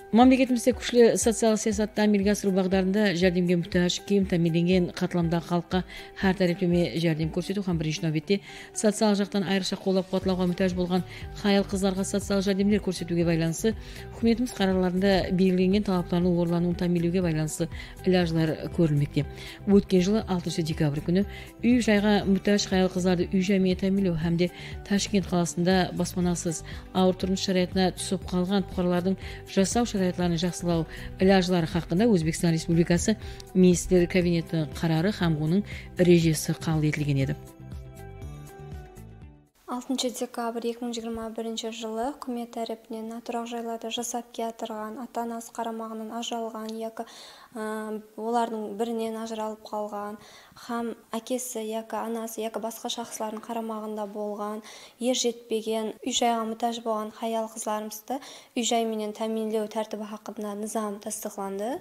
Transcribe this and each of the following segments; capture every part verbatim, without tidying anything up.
Мамлекетибизде күчлүү социалдык саясатты амелге асыруу багдарында жардамга муктаж ким тамирленген катламдагы калкка ар тараптуу жардам көрсөтүү һәм биринчи нөбөттө социалдык жактан айрыкча колдоп кубатлоого муктаж болгон аял кызларга социалдык жардамдар көрсөтүүгө байланыштуу өкмөтүбүз карарларында белгиленген талаптардын орулануун тааминдөөгө байланыштуу ыляажлар көрүлмөктө. Өткөн жылы алтынчы декабрь күнү үй жайга муктаж аял кыздарды үй жай менен тааминдөө һәмде Ташкент каласында баспанасыз ауыр турмуш шараятына түшүп калган фукаралардын жашоо шараятларын жакшылоо ыляажлары хакында Өзбекстан Республикасы Министрлер Кабинетинин карары һәм мунун эрежеси кабыл этилген эди. алтынчы декабрь эки миң жыйырма биринчи жылы өкмөт тарапынан натурак жайларды жасап келатырган, ата-анасы карамагынан ажыралган яки олардын биринен ажыралып калган һәм акеси яки анасы яки башка шахслардын карамагында болгон, ер жетпеген, үй жайга муктаж болгон аял кызларыбызды үй жай менен тааминдөө тартиби хакында низам тастыкланды.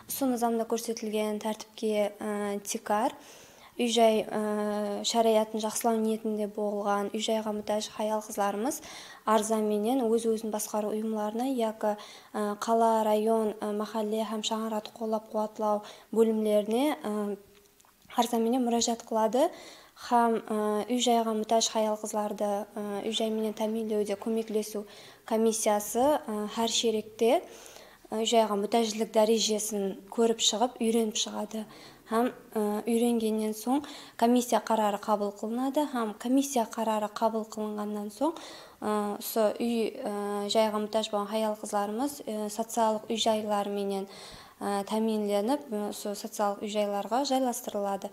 Ушул низамда көрсөтүлгөн тартипке тикар үй жай шариятын жакшылоо ниетинде болгон үй жайга муктаж аял кызларыбыз арза менен өз өзүн башкаруу уюмларына яки кала, район, махалле һәм шаһарды колдоп кубатлоо бөлүмлөрүнө арза менен мурожаат кылады һәм үй жайга муктаж аял кызларды үй жай менен тааминдөөдө көмөклөшүү комиссиясы ар шеректе үй жайга муктаждык дарежесин көрүп чыгып, үйрөнүп чыгады. Һәм үйрөнгөндөн соң комиссия карары кабыл кылынады һәм комиссия карары кабыл кылынгандан соң ошо үй жайга муктаж болгон аял кызларыбыз социалдык үй жайлар менен тааминденип, ошо социалдык үй жайларга жайлаштырылады.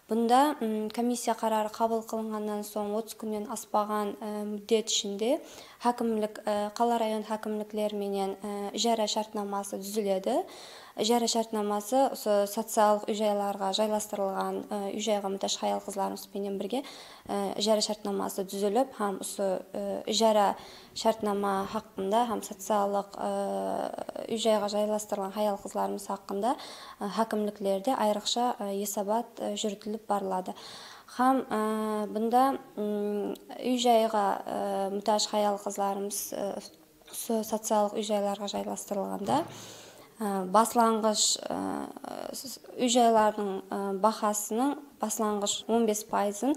Бунда комиссия карары кабыл кылынгандан соң отуз күндөн аспаган муддет ичинде хакимлик, кала район хакимликтери менен ижара шартнамасы түзүлөдү. Ижара шартнамасы ошо социалдык үй жайларга жайлаштырылган үй жайга муктаж аял кызларыбыз менен бирге ижара шартнамасы түзүлүп, һәм ошо ижара шартнама хакында һәм социалдык үй жайга жайлаштырылган аял кызларыбыз хакында хакимликлерде айрыкча эсабат жүрүтүлүп барылады. Һәм бунда үй жайга муктаж аял кызларыбыз социалдык үй жайларга жайлаштырылганда баслангыч үй жайлардын бахасынын баслангыч он беш пайызын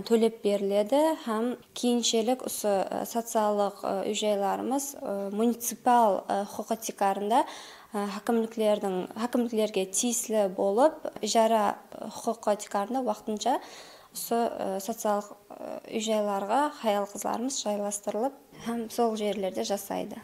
төлөп бериледі һәм кийинчерээк ошо социалдык үй жайларыбыз муниципал хукукатикарында хакимликтердин хакимликтерге тиеселүү болуп, ижара хукукатикарында вакытынча ошо социалдык үй жайларга аял кызларыбыз жайлаштырылып һәм сол жерлерде жашайды.